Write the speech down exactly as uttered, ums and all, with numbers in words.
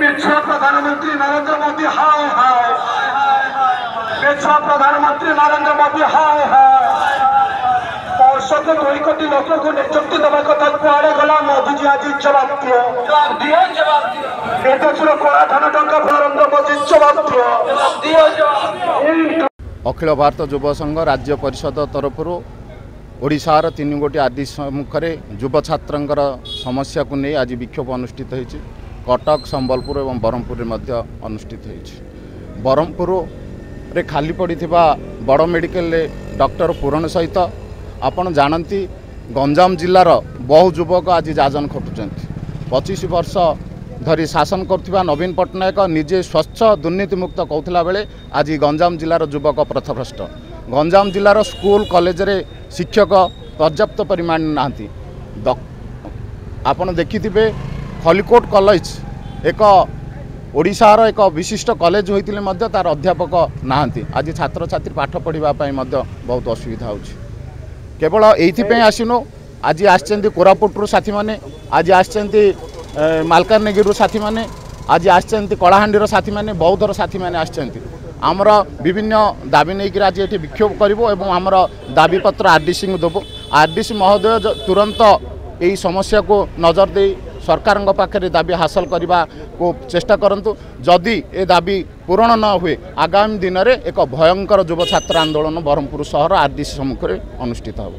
ମିଛୁଆ ପ୍ରଧାନମନ୍ତ୍ରୀ ନରେନ୍ଦ୍ର ମୋଦି ହାୟ ହାୟ, ମିଛୁଆ ପ୍ରଧାନମନ୍ତ୍ରୀ ନରେନ୍ଦ୍ର ମୋଦି ହାୟ ହାୟ। ବର୍ଷକୁ ଦୁଇ କୋଟି ଲୋକକୁ ନିଯୁକ୍ତି ଦେବା କଥା କୁଆଡ଼େ ଗଲା? ମୋଦିଜୀ ଆଜି ଜବାବ ଦିଅ, ଦିଅ ଜବାବ। ଏ ଦେଶର କଳା ଧନ ଟଙ୍କା, ନରେନ୍ଦ୍ର ମୋଦି ଜବାବ ଦିଅ। ଅଖିଳ ଭାରତ ଯୁବ ସଂଘ ରାଜ୍ୟ ପରିଷଦ ତରଫରୁ ଓଡ଼ିଶାର ତିନି ଗୋଟି ଆଦି ସମ୍ମୁଖରେ ଯୁବ ଛାତ୍ରଙ୍କର ସମସ୍ୟାକୁ ନେଇ ଆଜି ବିକ୍ଷୋଭ ଅନୁଷ୍ଠିତ ହୋଇଛି। କଟକ, ସମ୍ବଲପୁର ଏବଂ ବ୍ରହ୍ମପୁରରେ ମଧ୍ୟ ଅନୁଷ୍ଠିତ ହୋଇଛି। ବ୍ରହ୍ମପୁରରେ ଖାଲି ପଡ଼ିଥିବା ବଡ଼ ମେଡ଼ିକାଲରେ ଡକ୍ଟର ପୂରଣ ସହିତ ଆପଣ ଜାଣନ୍ତି, ଗଞ୍ଜାମ ଜିଲ୍ଲାର ବହୁ ଯୁବକ ଆଜି ଯାଜନ ଖଟୁଛନ୍ତି। ପଚିଶ ବର୍ଷ ଧରି ଶାସନ କରୁଥିବା ନବୀନ ପଟ୍ଟନାୟକ ନିଜେ ସ୍ୱଚ୍ଛ ଦୁର୍ନୀତିମୁକ୍ତ କହୁଥିଲା ବେଳେ ଆଜି ଗଞ୍ଜାମ ଜିଲ୍ଲାର ଯୁବକ ପଥଭ୍ରଷ୍ଟ। ଗଞ୍ଜାମ ଜିଲ୍ଲାର ସ୍କୁଲ କଲେଜରେ ଶିକ୍ଷକ ପର୍ଯ୍ୟାପ୍ତ ପରିମାଣ ନାହାନ୍ତି। ଆପଣ ଦେଖିଥିବେ, ଖଲିକୋଟ କଲେଜ ଏକ ଓଡ଼ିଶାର ଏକ ବିଶିଷ୍ଟ କଲେଜ ହୋଇଥିଲେ ମଧ୍ୟ ତା'ର ଅଧ୍ୟାପକ ନାହାନ୍ତି। ଆଜି ଛାତ୍ରଛାତ୍ରୀ ପାଠ ପଢ଼ିବା ପାଇଁ ମଧ୍ୟ ବହୁତ ଅସୁବିଧା ହେଉଛି। କେବଳ ଏଇଥିପାଇଁ ଆସିନୁ, ଆଜି ଆସିଛନ୍ତି କୋରାପୁଟରୁ ସାଥୀମାନେ, ଆଜି ଆସିଛନ୍ତି ମାଲକାନଗିରିରୁ ସାଥୀମାନେ, ଆଜି ଆସିଛନ୍ତି କଳାହାଣ୍ଡିର ସାଥୀମାନେ, ବୌଦ୍ଧର ସାଥୀମାନେ ଆସିଛନ୍ତି। ଆମର ବିଭିନ୍ନ ଦାବି ନେଇକରି ଆଜି ଏଠି ବିକ୍ଷୋଭ କରିବୁ ଏବଂ ଆମର ଦାବିପତ୍ର ଆର୍ ଡି ସିଙ୍କୁ ଦେବୁ। ଆର୍ ଡି ସି ମହୋଦୟ ତୁରନ୍ତ ଏହି ସମସ୍ୟାକୁ ନଜର ଦେଇ ସରକାରଙ୍କ ପାଖରେ ଦାବି ହାସଲ କରିବାକୁ ଚେଷ୍ଟା କରନ୍ତୁ। ଯଦି ଏ ଦାବି ପୂରଣ ନ ହୁଏ, ଆଗାମୀ ଦିନରେ ଏକ ଭୟଙ୍କର ଯୁବ ଛାତ୍ର ଆନ୍ଦୋଳନ ବ୍ରହ୍ମପୁର ସହର ଆର୍ ଡି ସି ସମ୍ମୁଖରେ ଅନୁଷ୍ଠିତ ହେବ।